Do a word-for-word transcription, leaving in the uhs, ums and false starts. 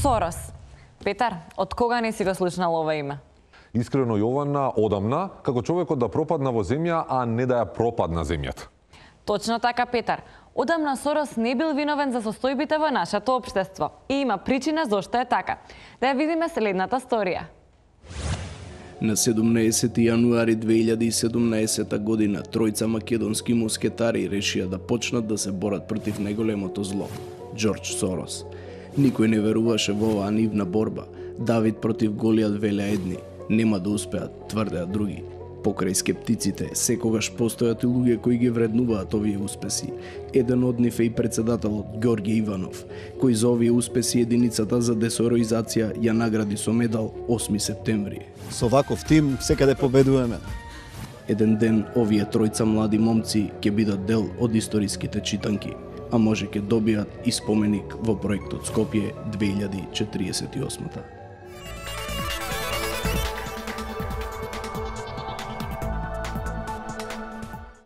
Сорос. Петар, од кога не си го слушнал ова име? Искрено Јована одамна, како човекот да пропадна во земја, а не да ја пропадна земјата. Точно така, Петар. Одамна Сорос не бил виновен за состојбите во нашето општество и има причина зошто е така. Да ја видиме следната сторија. На седумнаесети јануари две илјади и седумнаесета година тројца македонски мускетари решија да почнат да се борат против најголемото зло – Џорџ Сорос. Никој не веруваше во оваа нивна борба. Давид против Голијат, велеа едни, нема да успеат, тврдеа други. Покрај скептиците, секогаш постојат и луѓе кои ги вреднуваат овие успеси. Еден од нив е и председателот Ѓорѓе Иванов, кој за овие успеси единицата за десороизација ја награди со медал осми септември. Со ваков тим секаде победуваме. Еден ден овие тројца млади момци ќе бидат дел од историските читанки, а може ќе добијат и споменик во проектот Скопје две илјади четириесет и осма.